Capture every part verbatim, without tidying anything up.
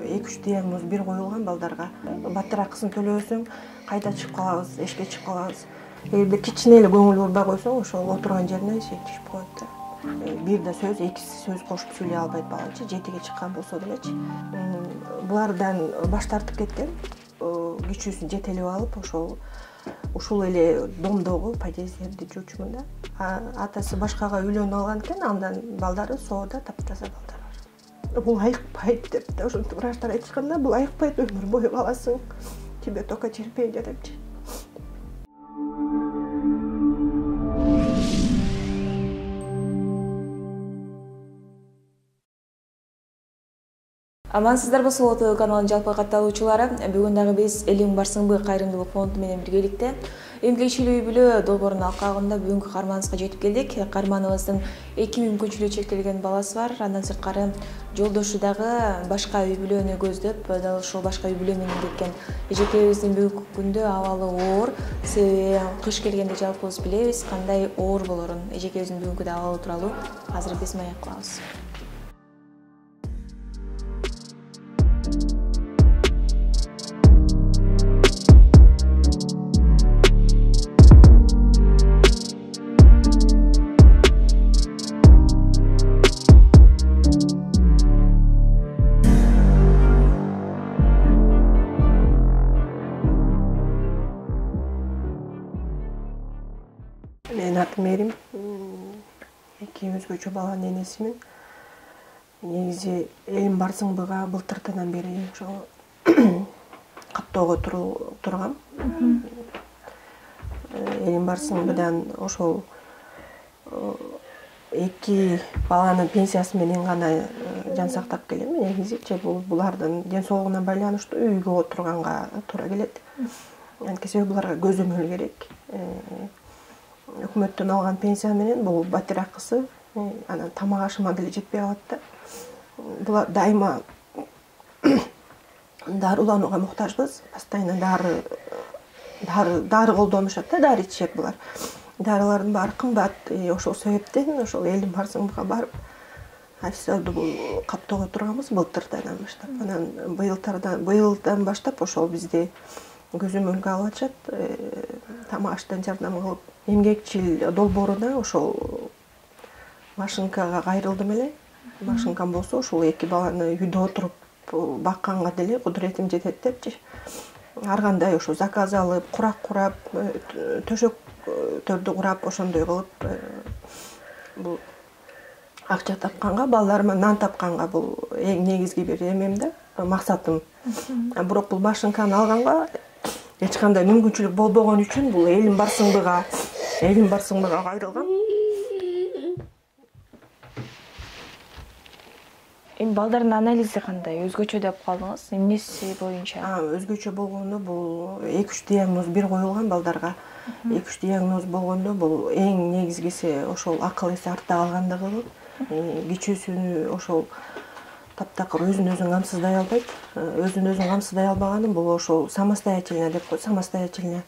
эки үч диагноз бир коюлган балдарга. Батир акысын төлөбөсөң кайда чыгып калабыз, эшикке чыгып калабыз. Эгерде кичине эле көңүл бурбай койсоң, ошол отурган жеринен эшик түшүп коет да. Бир да сөз, эки сөз кошуп сүйлөй албайт балачы, жетиге чыккан болсо делечи. Булардан баш тартып кеткен, күчүүсүн жетелеп алып, ошол ушул эле домдогу подъезддерди жуучумун да. Атасы башкага үйлөнүп алган экен, андан балдары соодо таптаза балдар бар. Бул айыкпайт деп да ошентип врачтар айтышканда, бул айыкпайт, өмүр бою каласың, тебе только терпение депчи. Амансыздарбы, Сулуу ТВ каналынын жалпы катталуучулары. Бүгүн дагы биз Элиң барсыңбы кайрымдуулук фонду менен биргеликте эмгекчилик үй бүлө долбоорунун алкагында бүгүнкү каарманыбызга жетип келдик. Каарманыбыздын эки мүмкүнчүлүгү чектелген баласы бар. Андан сырткары жолдошу дагы башка үй бүлөнү көздөп, дал ушул башка үй бүлө менен кеткен. Эжекебиздин бүгүнкү күндө абалы оор. Себеби кыш келгенде жалпыбыз билебиз кандай оор болорун. Эжекебиздин бүгүнкү абалы тууралуу азыр биз маек кылабыз. Менин атым Эрим. Эки өзгөчө баланын энесимин. Негизи Элиң барсыңбыга былтыртынан бери ошол каттоого тургам. Элиң барсыңбыдан ошол эки баланын пенсиясы менен гана жан сактап келем. Негизичи бул булардын ден соолугуна байланыштуу үйгө отурганга туура келет. Анткени себеби буларга көзөмөл керек. Өкмөттөн алган пенсия менен бул батир акысы, анан тамак ашыма деле жетпей калат да. Булар дайыма дарыланууга муктажбыз. Постоянно дары дары дары колдонушат да, дары ичишет булар. Дарылардын баары кымбат. Ошол себептен ошол Элиң барсыңбыга барып, официалдуу бул каттоого турганбыз былтырдан баштап. Анан быйылдан быйылдан баштап ошол бизди көзөмөлгө алып атышат. Тамак аштан жардам кылып, эмгекчил долбооруна ошол машинкага кайрылдым эле. Машинкам болсо ошол эки баланы үйдө отуруп бакканга деле кудуретим жетет депчи. Ар кандай ошо заказ алып, курак курап, төшөктөрдү курап, ошондой кылып бул акча тапканга, балдарыма нан тапканга бул эң негизги бир эмем да, максатым. Бирок бул машинканы алганга эч кандай мүмкүнчүлүк болбогон үчүн бул Элиң барсыңбыга, Элиң барсыңбыга кайрылгам. Эми балдардын анализи кандай? Өзгөчө деп калдыңыз. Эмнеси боюнча? А, өзгөчө болгону бул эки үч диагноз бир коюлган балдарга. эки үч диагноз болгондо бул эң негизгиси ошол акыл эси артта калгандыгы. Кичүүсүнү ошол таптакыр өзүн өзүн камсыздай албайт. Өзүн өзүн камсыздай албаганы бул ошол самостоятельно деп коет, самостоятельно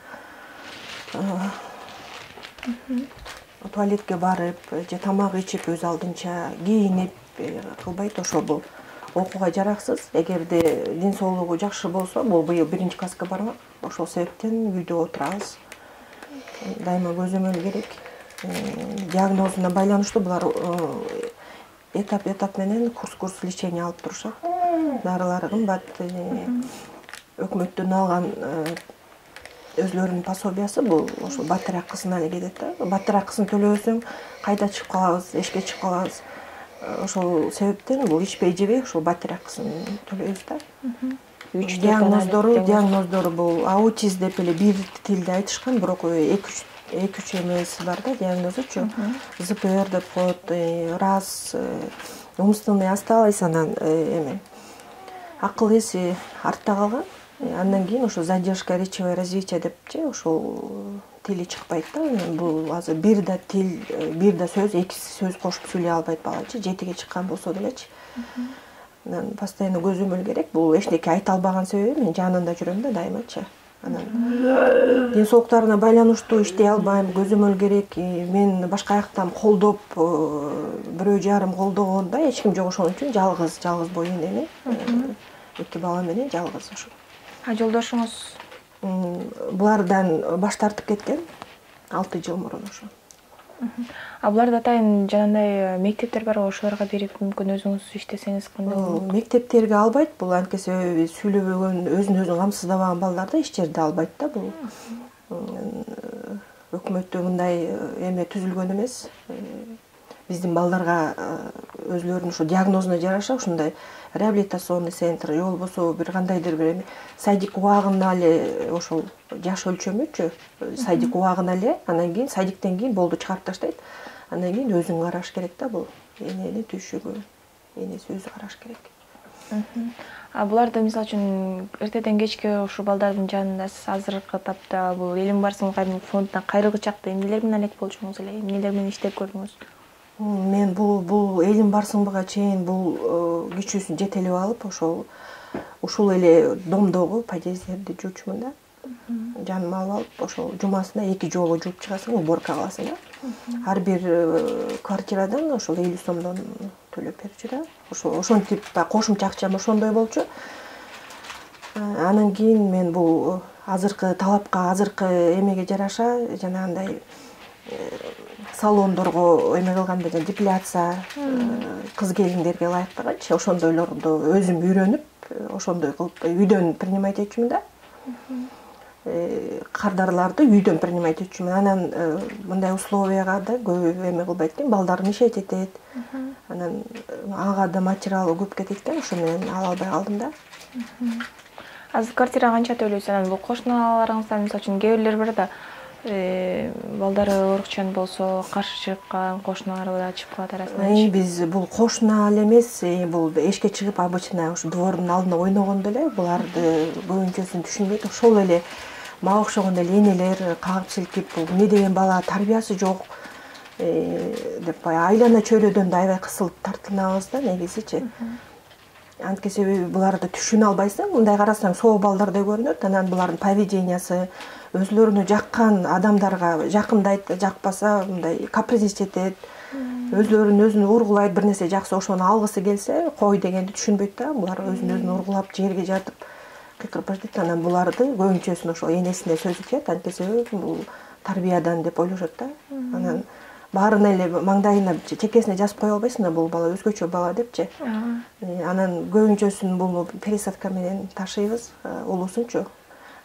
туалетке барып, же тамак ичип, өз алдынча кийинип кылбайт. Ошол бул окууга жараксыз. Эгерде ден соолугу жакшы болсо, бул быйыл биринчи класска бармак. Ошол себептен үйдө отурабыз. Дайыма көзөмөл керек. Диагнозуна байланыштуу булар этап-этап менен курс-курс лечение алып турушат. Дарылары кымбат. Өкмөттөн алган өзлөрүнүн пособиясы бул ошол батир акысына эле кетет да. Батир акысын төлөбөсөң кайда чыгып калабыз, эшикке чыгып калабыз. Ошол себептен бул ичпей жебей ошол батир акысын төлөйбүз да. Үч диагноздору, диагноздору бул аутизм деп эле бир тилде айтышкан, бирок эки үч эмеси бар да, диагнозучу. зэ пэ эр деп коет, раз, умственный осталось, анан эме акыл эси артта калган. Андан кийин ошо задержка речевое развитие депчи, ошол тили чыкпайт да. Бул азыр бир да тил, бир да сөз, эки сөз кошуп сүйлөй албайт балачы, жетиге чыккан болсо делечи. Анан постоянно көзөмөл керек. Бул эчтеке айта албаган себеби мен жанында жүрөм да дайымачы. Анан ден соолуктарына байланыштуу иштей албайм, көзөмөл керек. Мен башка жактан колдоп, бирөө жарым колдогондо эч ким жок, ошон үчүн жалгыз, жалгыз бою эне. эки бала менен жалгыз ошо. А жолдошуңуз? Булардан баш тартып кеткен алты жыл мурун ошо. А буларда атайын жанагындай мектептер барбы, ошолорго берип мүмкүн өзүңүз иштесеңиз кандай болот? Мектептерге албайт, бул анткени себеби сүйлөбөгөн, өзүн өзү камсыздабаган балдарды эч жерде албайт да бул. Өкмөттө мындай эме түзүлгөн эмес. Биздин балдарга өзлөрүнүн ушу диагнозуна жараша ушундай реабилитационный центр же болбосо бир кандайдыр бир садик убагына эле ошол жаш өлчөмүчү садик убагына эле, анан кийин садиктен кийин болду чыгарып таштайт. Андан кийин өзүң караш керек да бул. Энени түйшүгү, энеси өзү караш керек. А буларды мисалы үчүн эртеден кечке ушу балдардын жанында сиз азыркы тапта бул Элим Барсыгым кайрымдуулук фондуна кайрылгы чакта эмнелер менен алек болчуңуз эле, эмнелер менен иштеп көрдүңүз? Мен бул бул Элим Барсыгымга чейин бул күчүүсүн жетелеп алып, ошол ушул эле домдогу подъезддерди жуучумун да. Жаныма алып алып, ошол жумасына эки жолу жууп чыгасың, уборка кыласың да. Ар бир квартирадан ошол элүү сомдон төлөп берчү да. Ошо ошентип кошумча акчам ошондой болчу. Анан кийин мен бул азыркы талапка, азыркы эмеге жараша жанагындай салондорго эме кылганда, жана депиляция, кыз келиндерге ылайыктагычы ошондойлорду өзүм үйрөнүп, ошондой кылып үйдөн принимать этчүмүн да. Кардарларды үйдөн принимать этчүмүн. Анан мындай условияга да көп эме кылбайт экен, балдарым ишет этет. Анан ага да материалы көп кетет экен, ошо менен ала албай калдым да. Азыр квартира канча төлөйсүз? Анан бул кошуналарыңыздан мисалы үчүн кээ бирлер бар да, балдары оорукчан болсо каршы чыккан кошуналар да чыгып калат арасынан. Биз бул кошуна эле эмес, бул эшикке чыгып обычно ушу двордун алдына ойногондо эле буларды көбүнчөсүн түшүнбөйт. Ошол эле мага окшогон эле энелер кагып силкип, бул эмне деген бала, тарбиясы жок деп баягы айлана чөйрөдөн да аябай кысылып тартынабыз да негизичи. Анткени себеби буларды түшүнө албайсың, мындай карасаң соо балдардай көрүнөт. Анан булардын поведениясы өзлөрүнө жаккан адамдарга жакындайт, жакпаса мындай капризничать, өзлөрүн өзүнө ургулайт, бир нерсе жакса ошону алгысы келсе, кой дегенди түшүнбөйт да. Булар өзүн өзүн ургулап жерге жатып кыйкырып баштайт. Анан буларды көбүнчөсүн ошол энесине сөзү тиет, анткени себеби бул тарбиядан деп ойлошот да. Анан баарын эле маңдайына, чекесине жазып кое албайсың да, бул бала өзгөчө бала депчи. Анан көбүнчөсүн бул пересадка менен ташыйбыз, улуусунчу.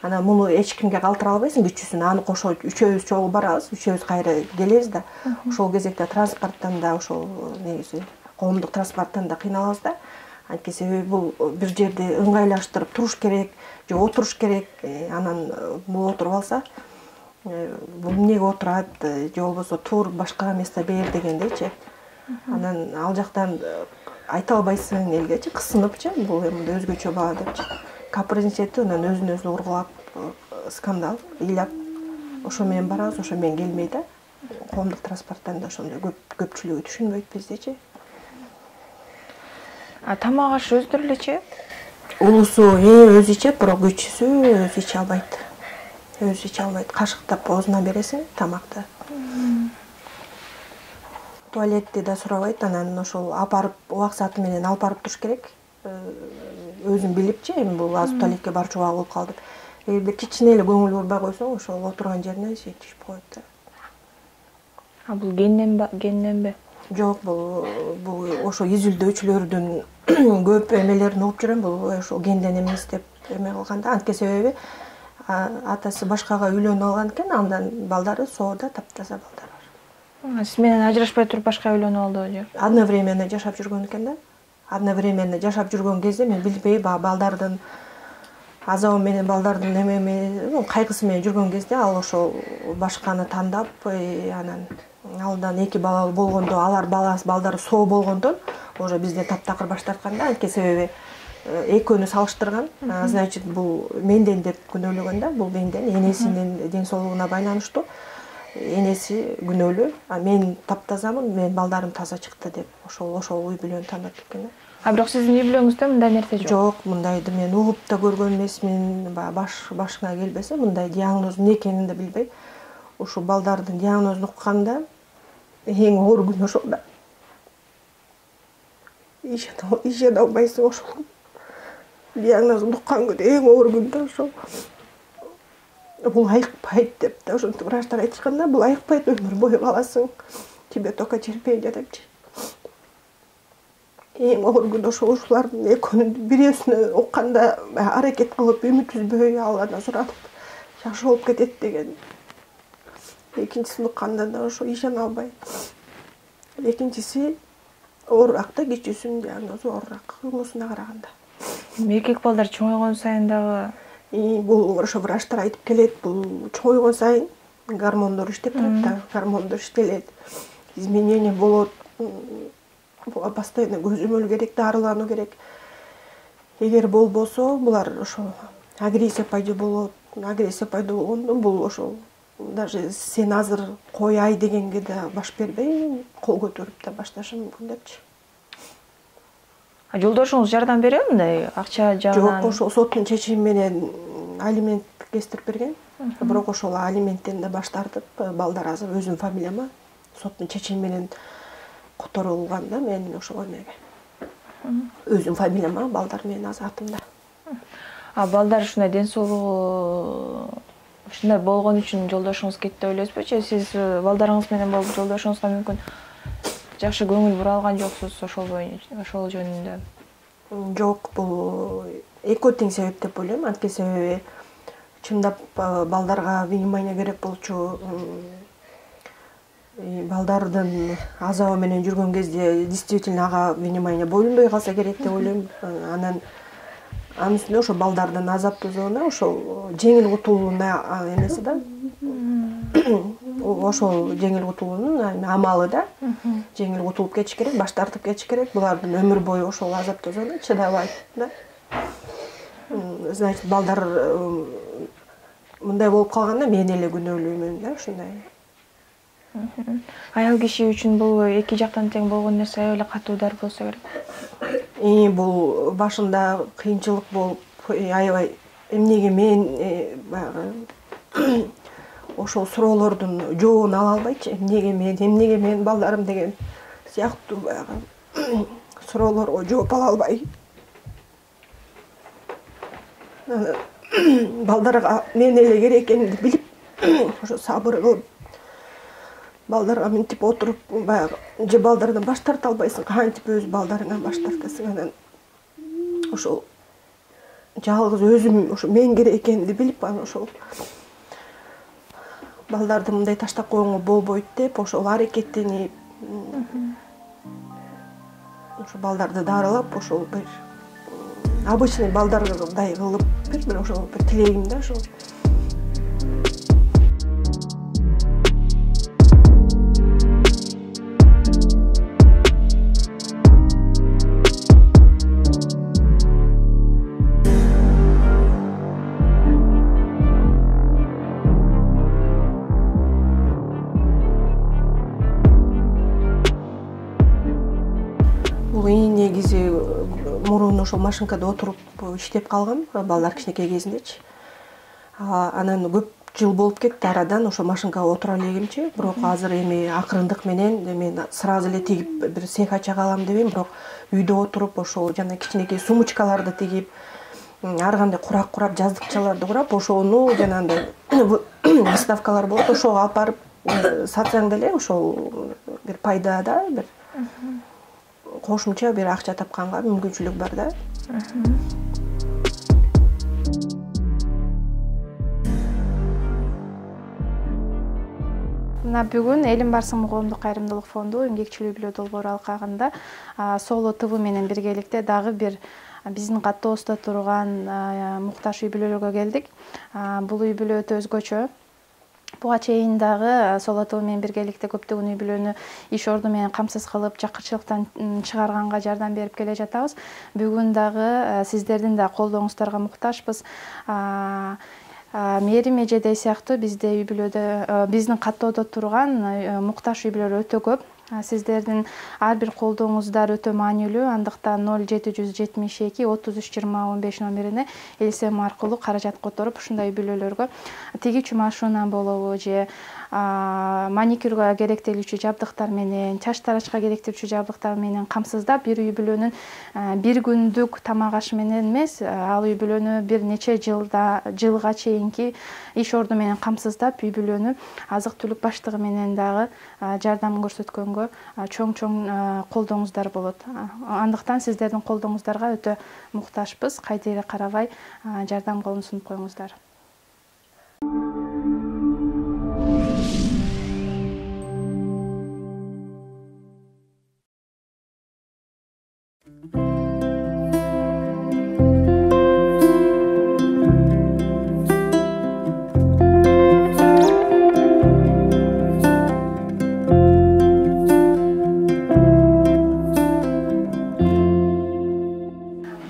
Анан муну эч кимге калтыра албайсың, кичүүсүн. Аны кошо үчөөбүз чогуу барабыз, үчөөбүз кайра келебиз да. Ошол кезекте транспорттан да, ошол негизи коомдук транспорттан да кыйналабыз да. Анткени себеби бул бир жерде ыңгайлаштырып туруш керек, же отуруш керек. Анан бул отуруп алса, бул эмнеге отурат, же болбосо тур башка место бер дегендейчи. Анан ал жактан айта албайсың элгечи, кысыныпчы, бул эми өзгөчө бала депчи. Капризничать, анан өзүн өзү ургулап, скандал, ыйлап, ошо менен барабыз, ошо менен келмей да. Коомдук транспорттан да ошондой көп көпчүлүгү түшүнбөйт биздичи. А тамак аш өздөрү элечи? Улусу өзү ичет, бирок кичүүсү өзү иче албайт. Өзү иче албайт. Кашыктап оозуна бересиң тамакты. Туалетти да сурабайт, анан ошол апарып убак сааты менен алып барып туруш керек. Өзүм билипчи, эми бул азыр туалетке барчу убагы болуп калды. Эгерде кичине эле көңүл бурбай койсоң, ошол отурган жерине жетишип коет да. А бул генден генденби? Жок, бул бул ошо изилдөөчүлөрдүн көп эмелерин угуп жүрөм, бул ошол генден эмес деп эме кылганда. Анткени себеби атасы башкага үйлөнүп алган экен, андан балдары соода таптаза балдар бар. Сиз менен ажырашпай туруп башка үйлөнүп алдыбы же? Одновременно жашап жүргөн экен да. Одновременно жашап жүргөн кезде мен билбей, балдардын азабы менен, балдардын эме кайгысы менен жүргөн кезде ал ошол башканы тандап, анан алдан эки бала болгондо, алар баласы балдары соо болгондон уже бизден таптакыр баш тарткан да. Анткени себеби экөөнү салыштырган. Значит, бул менден деп күнөөлөгөн да, бул менден, энесинин ден соолугуна байланыштуу. Энеси күнөөлүү, а мен таптазамын, мен балдарым таза чыкты деп ошол ошол үй бүлөнү тандап кеткен да. А бирок сиздин үй бүлөңүздө мындай нерсе жок? Жок, мындайды мен угуп да көргөн эмесмин. Баш башыңа келбесе, мындай диагноз эмне экенин да билбей, ушу балдардын диагнозун укканда эң оор күн ошол да. Ишене албайсың ошол. диагнозун уккан күнү эң оор күндө ошол бул айыкпайт деп да ошентип врачтар айтышканда, бул айыкпайт, өмүр бою каласың, тебе только терпение депчи. Эң оор күн ошол ушулардын экөөнүн бирөөсүнө укканда аракет кылып үмүт үзбөй Алладан сурап жакшы болуп кетет деген. Экинчисин укканда да ошо ишене албай. Экинчиси оорураак да, кичүүсүнүн диагнозу оорураак муусуна караганда. Эркек балдар чоңойгон сайын дагы бул ошо врачтар айтып келет, бул чоңойгон сайын гормондор иштеп турат да, гормондор иштелет, изменение болот. Буга постоянно көзөмөл керек, дарылануу керек. Эгер болбосо, булар ошо агрессия пайда болот. Агрессия пайда болгондо бул ошо даже сен азыр кояй дегенге да баш бербей, кол көтөрүп да башташы мүмкүн депчи. Жолдошуңуз жардам береби мындай акча жагынан? Жок, ошол соттун чечими менен алимент кестирип берген. Бирок ошол алименттен да баш тартып, балдар азыр өзүмдүн фамилияма соттун чечими менен которулган да, мен ошого эмеге. Өзүмдүн фамилияма, балдар менин атымда. А балдар ушундай ден соолугу ушундай болгон үчүн жолдошуңуз кетти деп ойлойсузбу? Же сиз балдарыңыз менен болуп жолдошуңузга мүмкүн жакшы көңүл бура алган жоксуз ошол боюнча, ошол жөнүндө? Жок, бул экөө тең себеп деп ойлойм. Анткени себеби чындап балдарга внимание керек болчу. Балдардын азабы менен жүргөн кезде действительно ага внимание боюнбой калса керек деп ойлойм. Анан анын үстүнө ошо балдардын азаптоозуна ошол жеңил кутулууна эмеси да. Ошол жеңил кутулуунун амалы да. Жеңил кутулуп кетиш керек, баш тартып кетиш керек. Булардын өмүр бою ошол азаптоозуна чыдабайт да. Значит, балдар мындай болуп калганда мен эле күнөөлүүмүн да, ушундай. Аял киши үчүн бул эки жактан тең болгон нерсе аябай эле катуу удар болсо керек. И бул башында кыйынчылык болуп, аябай эмнеге мен баягы ошол суроолордун жообун ала албайчы, эмнеге мен, эмнеге мен балдарым деген сыяктуу баягы суроолорго жооп ала албай. Балдарга мен эле керек экенин билип, ошо сабыр кылып, балдарга мынтип отуруп, баягы же балдардан баш тарта албайсың, кантип өз балдарыңан баш тартасың. Анан ошол жалгыз өзүм ошо мен керек экенин билип, анан ошол балдарды мындай таштап койгонго болбойт деп, ошол аракеттенип, ошо балдарды дарылап, ошол бир обычный балдардай кылып, бир ошол бир тилегим да ошол. Бул эң негизи мурун ошол машинкада отуруп иштеп калгам, балдар кичинекей кезиндечи. Анан көп жыл болуп кетти арадан ошо машинкага отура элегимчи. Бирок азыр эми акырындык менен мен сразу эле тигип бир цех ача калам дебейм, бирок үйдө отуруп ошол жана кичинекей сумочкаларды тигип, ар кандай курак-курап, жаздыкчаларды курап, ошону жанагындай выставкалар болот, ошого алып барып сатсаң деле ошол бир пайда да, бир кошумча бир акча тапканга мүмкүнчүлүк бар да. Мына бүгүн Элим барсыңбы коомдук кайрымдуулук фонду эмгекчилүү күлөө долбоору алкагында Соло ТВ менен биргеликте дагы бир биздин каттобузда турган муктаж үй бүлөлөргө келдик. Бул үй бүлө өтө өзгөчө. Буга чейин дагы Соло ТВ менен биргеликте көптөгөн үй бүлөнү иш орду менен камсыз кылып, жакырчылыктан чыгарганга жардам берип келе жатабыз. Бүгүн дагы сиздердин да колдооңуздарга муктажбыз. Мээрим эжедей сыяктуу бизде үй бүлөдө, биздин каттоодо турган муктаж үй бүлөлөр өтө көп. Сиздердин ар бир колдооңуздар өтө маанилүү. Андыктан ноль жети жүз жетимиш эки отуз үч жыйырма он беш номерине ЛСМ аркылуу каражат которуп, ушундай үй бүлөлөргө тигичү машина болобу же маникюрга керектелүүчү жабдыктар менен, чач тарачка керектелүүчү жабдыктар менен камсыздап, бир үй бүлөнүн бир күндүк тамак ашы менен эмес, ал үй бүлөнү бир нече жылда жылга чейинки иш орду менен камсыздап, үй бүлөнү азык-түлүк баштыгы менен дагы жардам көрсөткөнгө чоң-чоң колдооңуздар болот. Андыктан сиздердин колдооңуздарга өтө муктажбыз. Кайдыгер карабай жардам колун сунуп коюңуздар.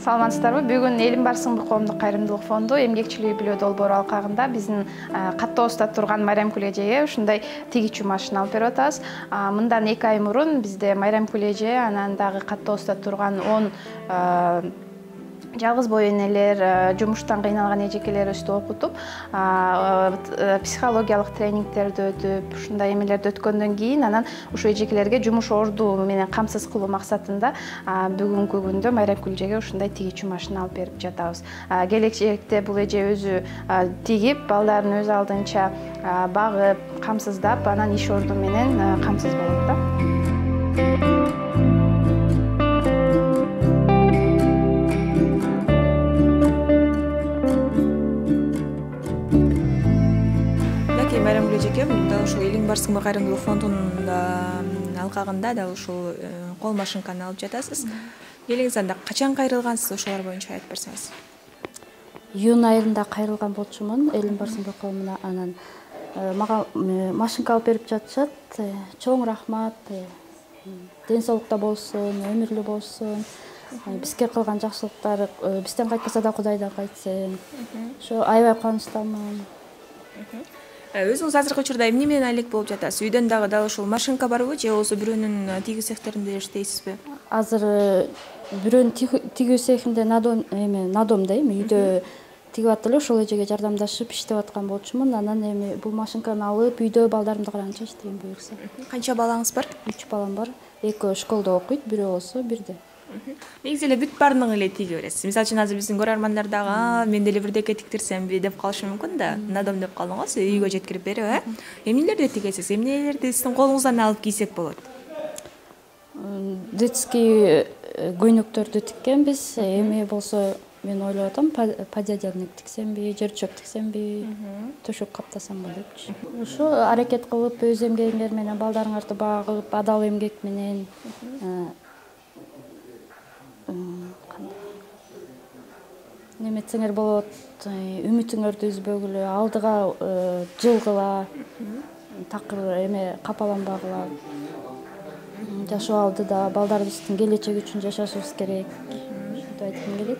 Саламатсыздарбы? Бүгүн Элим Барсыңбы коомдук кайрымдуулук фонду эмгекчилик үй бүлө долбоору алкагында биздин каттообузда турган Майрамкүл эжеге ушундай тигичү машина алып берип атабыз. Мындан эки ай мурун бизде Майрамкүл эже анан дагы каттообузда турган он жалгыз бой энелер, жумуштан кыйналган эжекелерибизди окутуп, психологиялык тренингтерди өтүп, ушундай эмелерди өткөндөн кийин анан ушул эжекелерге жумуш орду менен камсыз кылуу максатында бүгүнкү күндө Майрамкүл эжеге ушундай тигичү машина алып берип жатабыз. Келечекте бул эже өзү тигип, балдарын өз алдынча багып, камсыздап, анан иш орду менен камсыз болот да. Майрамкүл эжеке, дал ушул Элим Барсыңбы кайрымдуулук фондунун алкагында дал ушул кол машинканы алып жатасыз. Элиңиз анда качан кайрылгансыз, ошолор боюнча айтып берсеңиз. Июнь айында кайрылган болчумун Элим Барсыңбы коомуна. Анан мага машинка алып берип жатышат. Чоң рахмат. Ден соолукта болсун, өмүрлүү болсун. Бизге кылган жакшылыктары бизден кайтпаса да Кудайдан кайтсын. Ошо аябай кубанычтамын. Өзүңүз азыркы учурда эмне менен алек болуп жатасыз? Үйдөн дагы дал ушул машинка барбы же болбосо бирөөнүн тигүү цехтеринде иштейсизби? Азыр бирөөнүн тигүү цехинде надом эме надомда эми үйдө тигип атып эле ошол эжеге жардамдашып иштеп аткан болчумун. Анан эми бул машинканы алып үйдө балдарымды караганча иштейм буюрса. Канча балаңыз бар? үч балам бар. Экөө школдо окуйт, бирөө болсо бирде. Негизи эле бүт баардыгын эле тиге бересиз. Мисалы үчүн азыр биздин көрөрмандар дагы мен деле бирдеке тиктирсемби деп калышы мүмкүн да. Надом деп калдыңыз, үйгө жеткирип берип, э? Эмнелерди тигесиз? Эмнелерди сиздин колуңуздан алып кийсек болот? Детский көйнөктөрдү тиккенбиз. Эми болсо мен ойлоп атам, подъядерник тиксемби, жер чөп тиксемби, төшөк каптасамбы депчи. Ошо аракет кылып, өз эмгегиңер менен балдарыңарды багып, адал эмгек менен неметсеңер болот, үмүтүңөрдү үзбөгүлө, алдыга жылгыла, такыр эме капаланбагыла. Жашоо алдыда балдарыбыздын келечеги үчүн жашашыбыз керек. Ушинтип айткым келет.